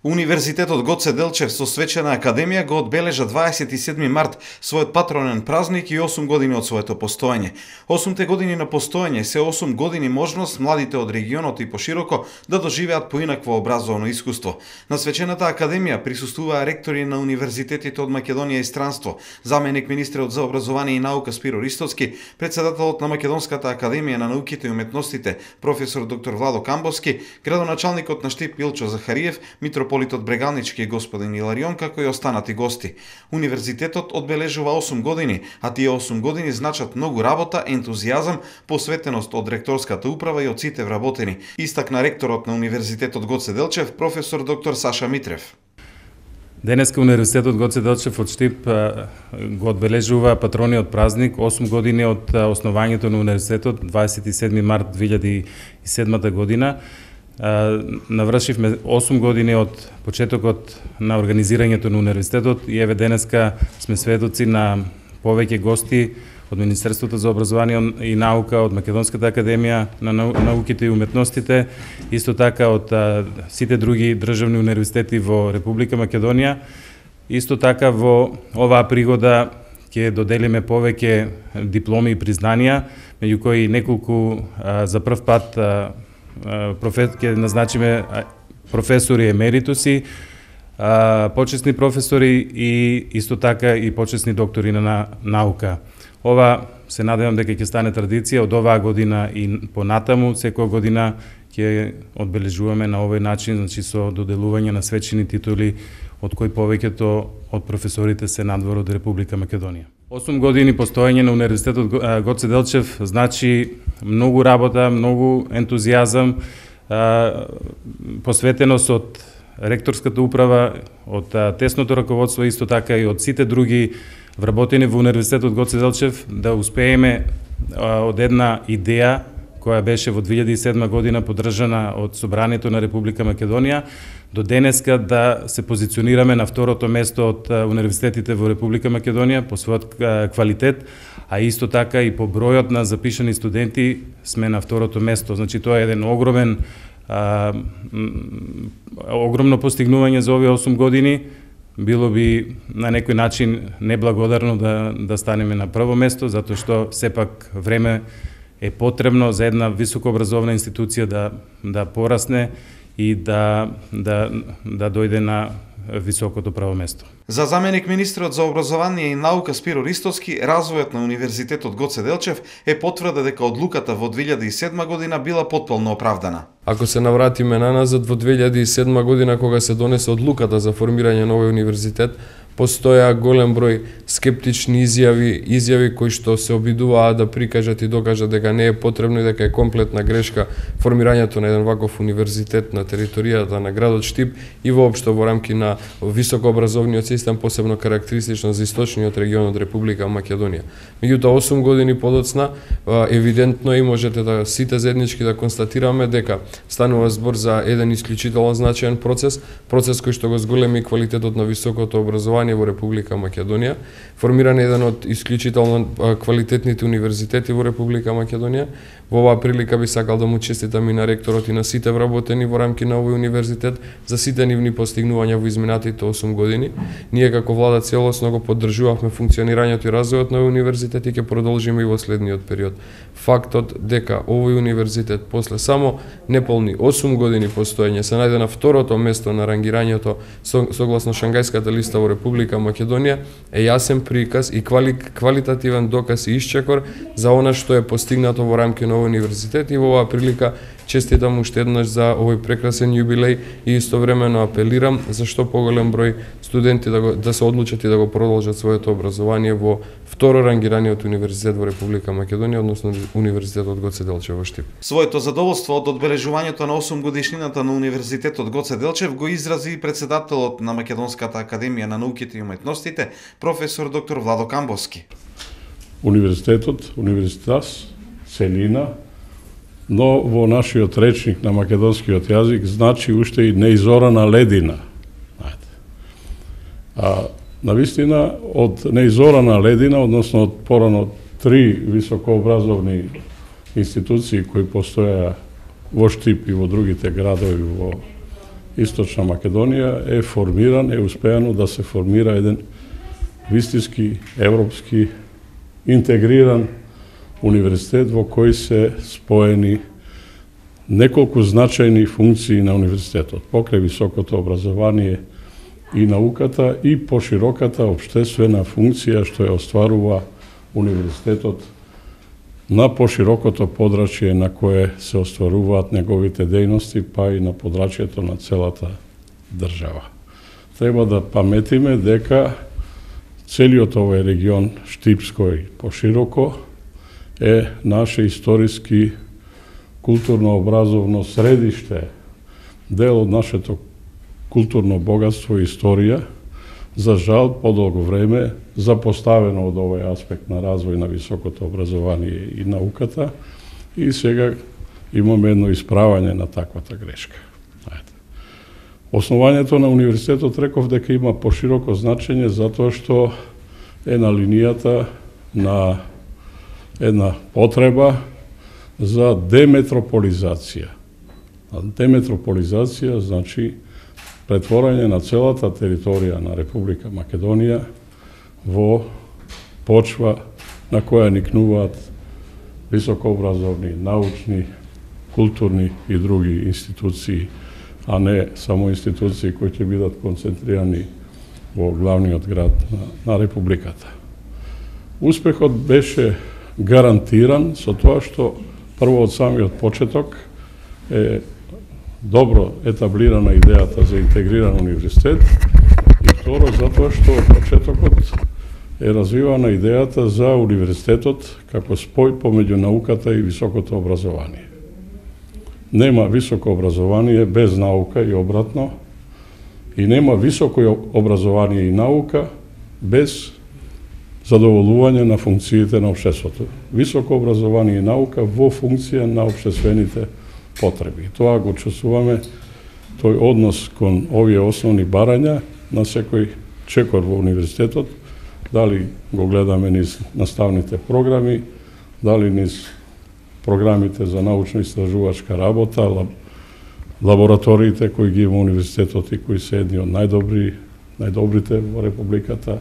Универзитетот Гоце Делчев со свечена академија го одбележа 27 март својот патронен празник и 8 години од своето постоење. 8 години на постоење се 8 години можност младите од регионот и пошироко да доживеат поинакво образовно искуство. На свечената академија присуствуваа ректори на универзитетите од Македонија и странство, заменик министерот за образование и наука Спиро Ристоцки, председателот на Македонската академија на науките и уметностите професор доктор Владо Камбовски, градоначалникот на Штип Илчо Захариев, митрополитот Брегалнички господин Иларион, како и останати гости. Универзитетот одбележува 8 години, а тие 8 години значат многу работа, ентузијазам, посветеност од ректорската управа и од сите вработени, истакна ректорот на Универзитетот Гоце Делчев, професор доктор Саша Митрев. Денеска Универзитетот Гоце Делчев од Штип го одбележува патрониот празник, 8 години од основањето на универзитетот, 27 март 2007 година. Навршивме 8 години од почетокот на организирањето на универзитетот и еве денеска сме сведоци на повеќе гости од Министерството за образование и наука, од Македонската академија на науките и уметностите, исто така од сите други државни универзитети во Република Македонија. Исто така во оваа пригода ќе доделиме повеќе дипломи и признанија, меѓу кои неколку за прв пат ќе назначиме професори емеритуси, почесни професори и исто така и почесни доктори на наука. Ова се надевам дека ќе стане традиција од оваа година и понатаму, секоја година ќе одбележуваме на овој начин, значи со доделување на свечени титули, од кои повеќето од професорите се надвор од Република Македонија. 8 години постоење на Универзитетот Гоце Делчев значи многу работа, многу ентузијазам, посветеност од ректорската управа, од тесното раководство, исто така и од сите други вработени во Универзитетот Гоце Делчев да успееме од една идеја која беше во 2007 година поддржана од Собранието на Република Македонија, до денеска да се позиционираме на второто место од универзитетите во Република Македонија по својот квалитет, а исто така и по бројот на запишани студенти сме на второто место. Значи тоа е еден огромно постигнување за овие 8 години. Било би на некој начин неблагодарно да станеме на прво место, затоа што сепак време е потребно за една високообразовна институција да порасне и да дојде на високото право место. За заменик министерот за образование и наука Спиро Ристоцки, развојот на Универзитетот Гоце Делчев е потврда дека одлуката во 2007 година била потполно оправдана. Ако се навратиме наназад во 2007 година кога се донесе одлуката за формирање на овој универзитет, постоја голем број скептични изјави кои што се обидуваа да прикажат и докажат дека не е потребно и дека е комплетна грешка формирањето на еден ваков универзитет на територијата на градот Штип и воопшто во рамки на високообразовниот систем, посебно карактеристично за источниот регион од Република Македонија. Меѓутоа 8 години подоцна евидентно и можете да сите заеднички да констатираме дека станува збор за еден исклучително значаен процес кој што го зголеми квалитетот на високото образование во Република Македонија, формиран еден од исклучително квалитетните универзитети во Република Македонија. Во оваа прилика би сакал да му честитам и на ректорот и на сите вработени во рамки на овој универзитет за сите нивни постигнувања во изминатите 8 години. Ние како влада целосно го поддржувавме функционирањето и развојот на овој универзитет и ќе продолжиме и во следниот период. Фактот дека овој универзитет после само неполни 8 години постоење се најде на второто место на рангирањето согласно Шангајската листа во Република Македонија е јасен приказ и квалитативен доказ и исчекор за она што е постигнато во рамки на овој универзитет и во оваа прилика честитам уште еднаш за овој прекрасен јубилеј и истовремено апелирам за што поголем број студенти да се одлучат и да го продолжат своето образование во второ рангираниот универзитет во Република Македонија, односно Универзитетот Гоце Делчев во Штип. Своето задоволство од одбележувањето на 8 годишнината на Универзитетот Гоце Делчев го изрази и председателот на Македонската академија на науките и уметностите, професор доктор Владо Камбовски. Универзитетот, универзитас, целина, но во нашиот речник на македонскиот јазик значи уште и неизорана ледина. Навистина, од неизорана ледина, односно од порано 3 високообразовни институции кои постоја во Штип и во другите градови во Источна Македонија е формиран, е успеано да се формира еден вистински, европски, интегриран универзитет во кој се споени неколку значајни функции на универзитетот, покрај високото образование и науката и пошироката општествена функција што ја остварува универзитетот на поширокото подрачје на кое се остваруваат неговите дејности, па и на подрачјето на целата држава. Треба да паметиме дека целиот овој регион Штипско и пошироко е наше историски културно-образовно средиште, дел од нашето културно богатство и историја, за жал подолго време запоставено од овој аспект на развој на високото образование и науката, и сега имаме едно исправање на таквата грешка. Основањето на универзитетот реков дека има пошироко значење затоа што е на линијата на една потреба за деметрополизација. Деметрополизација значи претворање на целата територија на Република Македонија во почва на која никнуваат високообразовни, научни, културни и други институции, а не само институции кои ќе бидат концентрирани во главниот град на Републиката. Успехот беше гарантиран со тоа што прво од самиот почеток е добро етаблирана идејата за интегриран универзитет и второ затоа што од почетокот е развивана идејата за универзитетот како спој помеѓу науката и високото образование. Нема високо образование без наука и обратно, и нема високо образование и наука без задоволување на функциите на општеството. Високо образование и наука во функција на општествените потреби. Тоа го чувствуваме, тој однос кон овие основни барања на секој чекор во универзитетот, дали го гледаме низ наставните програми, дали низ програмите за научно-истражувачка работа, лабораториите кои ги има универзитетот и кои се едни од најдобрите во Републиката.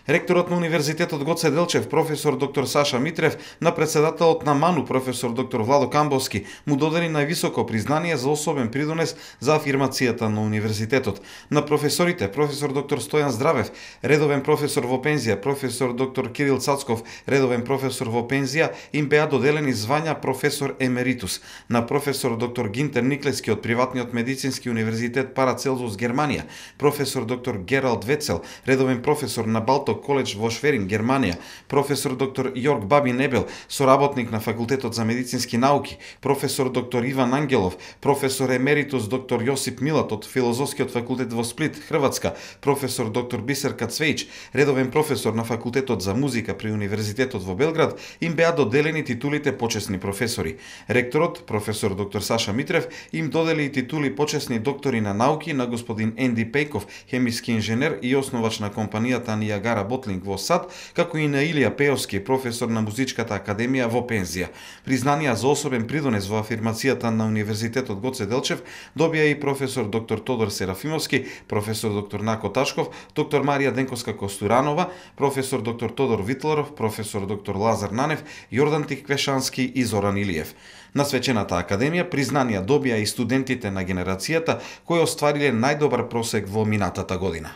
Ректорот на Универзитетот Гоце Делчев, професор доктор Саша Митрев, на председателот на МАНУ, професор доктор Владо Камбовски, му додели највисоко признание за особен придонес за афирмацијата на универзитетот. На професорите, професор доктор Стојан Здравев, редовен професор во пензија, професор доктор Кирил Цацков, редовен професор во пензија, им беа доделени звања професор емеритус. На професор доктор Гинтер Никлески од приватниот медицински универзитет Парацелзус Германија, професор доктор Гералд Вецел, редовен професор на Балто коледж во Шверин, Германија, професор доктор Јорг Баби Небел, соработник на Факултетот за медицински науки, професор доктор Иван Ангелов, професор емеритус доктор Јосип Милат од Филозофскиот факултет во Сплит, Хрватска, професор доктор Бисерка Цвејч, редовен професор на Факултетот за музика при Универзитетот во Белград, им беа доделени титулите почесни професори. Ректорот, професор доктор Саша Митрев, им додели и титули почесни доктори на науки на господин Енди Пејков, хемиски инженер и основач на компанијата Ниагара Ботлинг во САД, како и на Илија Пеовски, професор на Музичката академија во пензија. Признанија за особен придонес во афирмацијата на Универзитетот Гоце Делчев добија и професор доктор Тодор Серафимовски, професор доктор Нако Ташков, доктор Марија Денковска Костуранова, професор доктор Тодор Витларов, професор доктор Лазар Нанев, Јордан Тиквешански и Зоран Илиев. На свечената академија признанија добија и студентите на генерацијата кои оствариле најдобар просек во минатата година.